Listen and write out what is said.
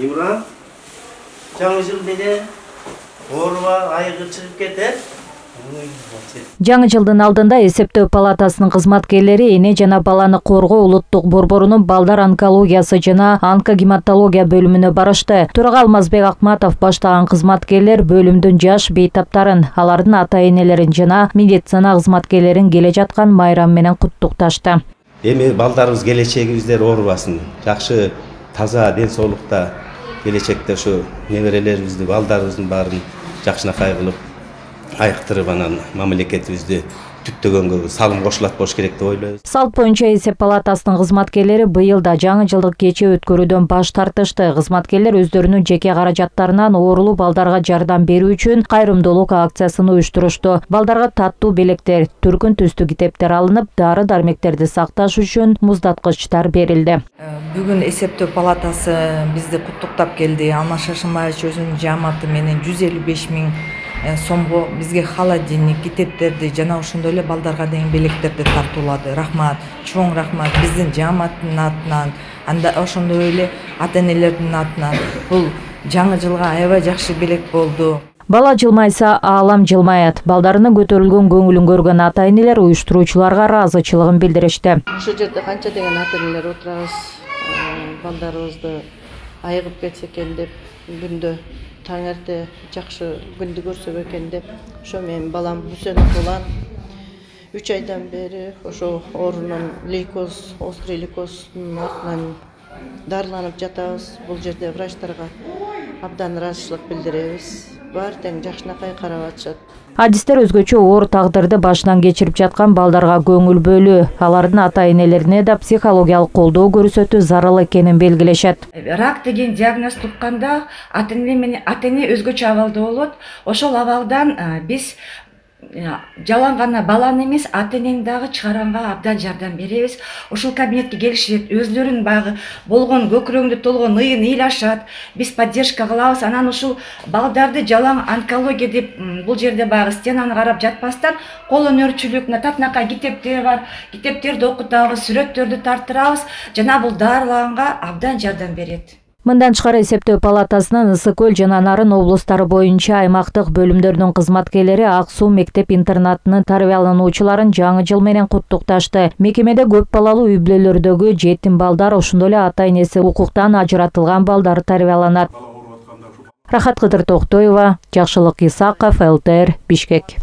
Имран, жаңы жыл менен ооруба айыгы чыгып кетет. Жаңы жылдын алдында эсептөө палатасынын кызматкерлери эне жана баланы коргоо улуттук борборунун балдар онкологиясы жана онкогематология бөлүмүнө барышты. Төрага Алмазбек Акматов баштаган кызматкерлер бөлүмдүн жаш бейтаптарын, алардын ата-энелерин жана медицина кызматкерлерин келе жаткан майрам менен куттукташты. Эми балдарыбыз келечегибиздер оорубасын, жакшы таза ден соолукта келечекте ушу неберелерибизди, балдарыбыздын баарын жакшынакай кылып айыктырып анан мамлекетибизди түптөгөнгө салым кошулат болуш керек деп ойлойбуз. Салт боюнча эсеп палатасынын кызматкерлери быйыл да жаңы жылдык кече өткөрүүдөн баш тартышты. Кызматкерлер өздөрүнүн жеке каражаттарынан оорулуу балдарга жардам берүү үчүн кайрымдуулук акциясын уюштурушту. Балдарга таттуу белектер, түркүн түстүү китептер алынып, дары-дармектерди сакташ үчүн муздаткычтар берилди. Бүгүн эсептөө палатасы бизди куттуктап келди. Алмаз Шашымбаевич өзүнүн жааматы менен 155 000 сомго бизге холодильник, китептерди жана ошондой эле балдарга деген белектерди тартуулады. Рахмат, чоң рахмат биздин жааматтын атынан, анда ошондой эле ата-энелердин атынан. Бул жаңы жылга аябай жакшы белек болду. Бала жылмайса, аалам жылмаят. Балдарынын көтөрүлгөн көңүлүн көргөн ата-энелер уюштуруучуларга ыраазычылыгын билдиришти. Ошол жерде канча деген ата-энелер отурабыз, балдарыбызды айыгып кетсе экен деп, күндө таң эрте жакшы күндү көрсөк экен деп, ошо менин балам Бүсөнов Улан 3 айдан бери ошо оорунун лейкоз, острый лейкоздун артынан дарыланып жатабыз. Бул жерде врачтарга абдан ыраазычылык билдиребиз. Баары тең жакшынакай карап атышат. Адистер өзгөчө оор тагдырды башынан кечирип жаткан балдарга көңүл бөлүү, алардын ата-энелерине да психологиялык колдоо көрсөтүү зарыл экенин белгилешет. Рак деген диагноз тукканда ата-эне өзгөчө абалда болот. Ошол абалдан биз жалаң гана баланы эмес, ата-энени дагы чыгаранга абдан жардам беребиз. Ошол кабинетке келишет, өзлөрүнүн багы болгон көкүрөңдү толгон ыйын ыйлашат. Биз поддержка кылабыз. Анан ушул балдарды жалаң онкология деп бул жерде багы стенаны карап жатпастан, кол өнөрчүлүк, татынакай китептер бар. Китептерди окутабыз, сүрөттөрдү тарттырабыз. Жана бул дарыланга абдан жардам берет. Мындан тышкары эсептөө палатасынын Ысык Көл жана Нарын облустары боюнча аймактык бөлүмдөрдүн кызматкерлери Ак Суу мектеп-интернатынын тарбиялануучуларын жаңы жыл менен куттукташты. Мекемеде көп балалуу үй бүлөлөрдөгү жетим балдар, ошондой эле ата-энеси укуктан ажыратылган балдар тарбияланат. Рахат Кыдыр Токтоева, Жакшылык Исаков, ЛТР, Бишкек.